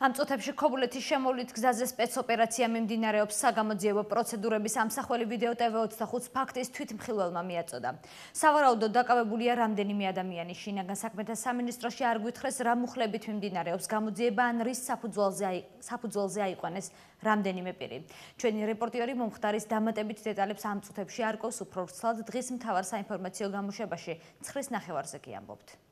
Ამ წუთებში ქობულეთის შემოვლით გზაზე სპეცოპერაცია მიმდინარეობს. საგამოძიებო პროცედურების ამსახველი ვიდეო TV24 ფაქტის თვითმხილველმა მიაწოდა. სავარაუდოდ დაკავებულია რამდენიმე ადამიანი. შინაგან საქმეთა სამინისტროში არ გვითხრეს რა მუხლებით მიმდინარეობს გამოძიება ან რის საფუძველზე აიყვანეს რამდენიმე პირი. ჩვენი რეპორტიორი მომხდარის დამატებით დეტალებს ამ წუთებში არ ყავს უფრო ვრცლად დღის მთავარ საინფორმაციო გამოშვებაში 9:30-ზე კი ამბობთ.